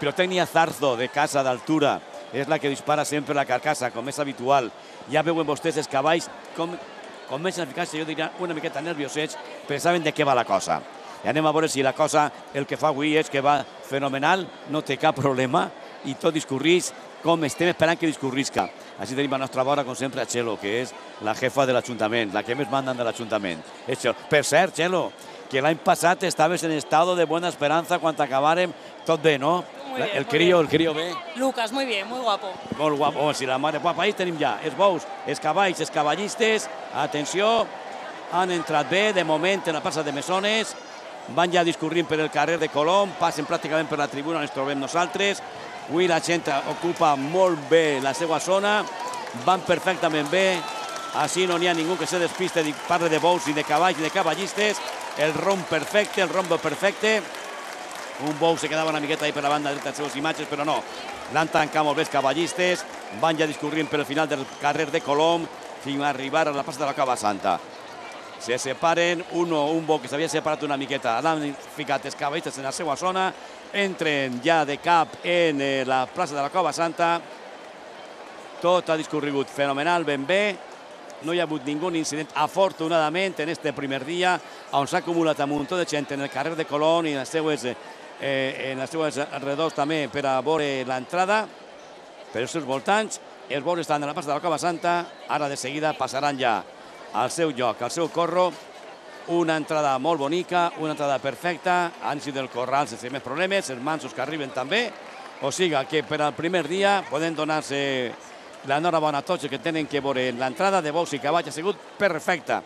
pirotècnia Zarzo, de casa d'altura, és la que dispara sempre la carcassa, com és habitual. Ja veuen vostès els cavalls com comencen a ficar-se, jo diria, una miqueta nerviosets, però saben de què va la cosa. I anem a veure si la cosa, el que fa avui és que va fenomenal, no té cap problema, i tot discorrís com estem esperant que discorrisca. Així tenim a nostra vora, com sempre, a Txelo, que és la jefa de l'Ajuntament, la que més mandan de l'Ajuntament. Per cert, Txelo, que l'any passat estaves en estado de buena esperanza quan acabàrem tot bé, no? El crío bé. Lucas, muy bien, muy guapo. Molt guapo, si la mare guapa. Ahí tenim ja els bous, els cavalls, els cavallistes. Atenció, han entrat bé, de moment, en la plaça de Mesones. Van ja discorrint per el carrer de Colom, passen pràcticament per la tribuna on ens trobem nosaltres. Avui la gent ocupa molt bé la seva zona, van perfectament bé, així no n'hi ha ningú que se despiste i parle de bous i de cavalls i de cavallistes. El rombo perfecte. Un bou se quedava una miqueta ahí per la banda dreta de les seves imatges, però no. L'han tancat molt bé els cavallistes, van ja discorrint per el final del carrer de Colom fins a arribar a la plaça de la Cova Santa. Se separen, un bou que s'havia separat una miqueta, l'han ficat els cavallistes en la seva zona, entren ja de cap en la plaça de la Cova Santa. Tot ha discorregut fenomenal, ben bé. No hi ha hagut ningú incident, afortunadament, en este primer dia, on s'ha acumulat un munt de gent en el carrer de Colom i en les seues alrededors també per a veure l'entrada, per els seus voltants. Els bous estan a la plaça de la Cova Santa, ara de seguida passaran ja al seu lloc, al seu corro. Una entrada molt bonica, una entrada perfecta, han sigut el corral sense més problemes, els mansos que arriben també. O sigui que per al primer dia poden donar-se l'enhorabona a tots que tenen que veure l'entrada de bous i cavalls, ha sigut perfecta.